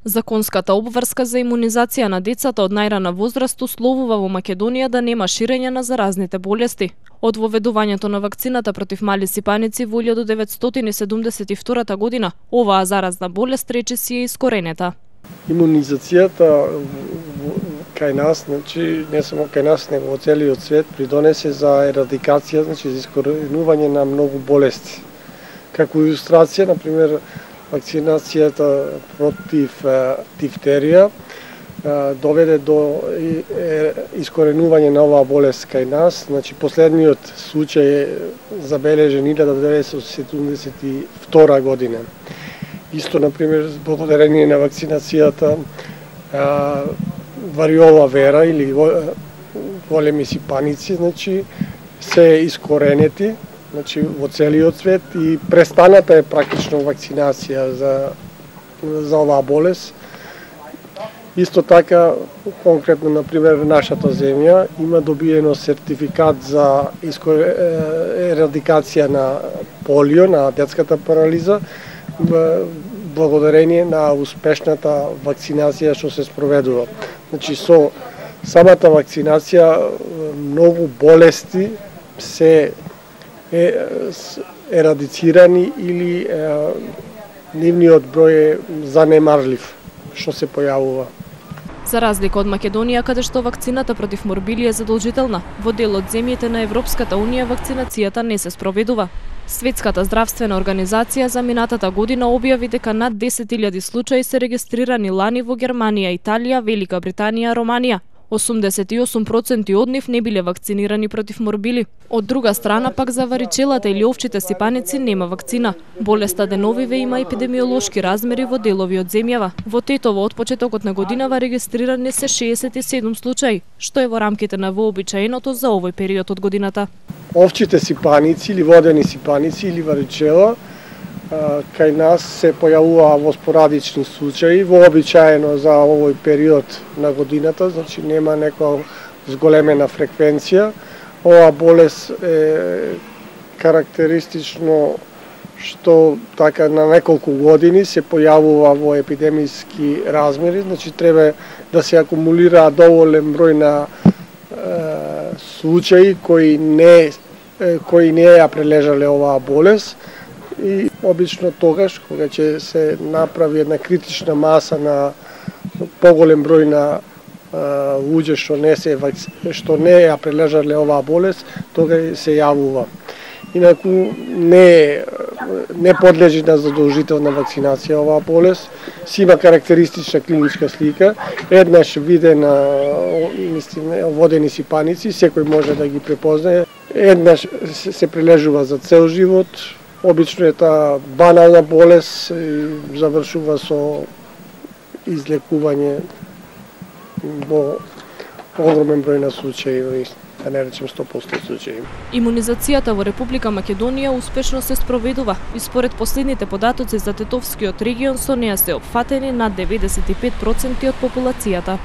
Законската обврска за имунизација на децата од најрана возраст условува во Македонија да нема ширење на заразните болести. Од воведувањето на вакцината против мали сипаници во 1972 година, оваа заразна болест речиси е искоренета. Имунизацијата кај нас, значи не само кај нас, него во целиот свет придонесе за ерадикација, значи за искоренување на многу болести. Како илустрација, на пример, вакцинацијата против дифтерија доведе до искоренување на оваа болест кај нас. Значи, последниот случај е забележен 1972 година. Исто, например, благодарение на вакцинацијата вариола вера или големи сипаници, значи, се искоренети, значи, во целиот свет и престаната е практично вакцинација за оваа болест. Исто така, конкретно, например, нашата земја има добиено сертификат за ерадикација на полио, на детската парализа, благодарение на успешната вакцинација што се спроведува. Значи, со самата вакцинација многу болести се ерадицирани или нивниот број е занемарлив што се појавува. За разлика од Македонија, каде што вакцината против морбили е задолжителна, во дел од земјите на Европската унија вакцинацијата не се спроведува. Светската здравствена организација за минатата година објави дека над 10.000 случаи се регистрирани лани во Германија, Италија, Велика Британија, Романија. 88% од нив не биле вакцинирани против морбили. Од друга страна, пак за варичелата или овчите сипаници нема вакцина. Болеста деновиве има епидемиолошки размери во делови од земјава. Во Тетово од почетокот на годинава регистрирани се 67 случаи, што е во рамките на вообичаеното за овој период од годината. Овчите сипаници или водени сипаници или варичела кај нас се појавува во спорадични случаи, вообичаено за овој период на годината, значи нема некоја зголемена фреквенција. Оваа болест е карактеристично што така на неколку години се појавува во епидемиски размери, значи треба да се акумулира доволен број на случаи кои не ја прележале оваа болест. И обично тогаш, кога ќе се направи една критична маса на поголем број на луѓе што не ја прележале оваа болест, тога се јавува. Инаку не подлежи на задолжителна вакцинација оваа болест, си има карактеристична клиничка слика, еднаш видена водени сипаници, секој може да ги препознае, еднаш се прележува за цел живот. Обично е таа банална болест и завршува со излекување во огромен број на случаи, да не речем 100% случаи. Имунизацијата во Република Македонија успешно се спроведува и според последните податоци за Тетовскиот регион со неа се опфатени над 95% од популацијата.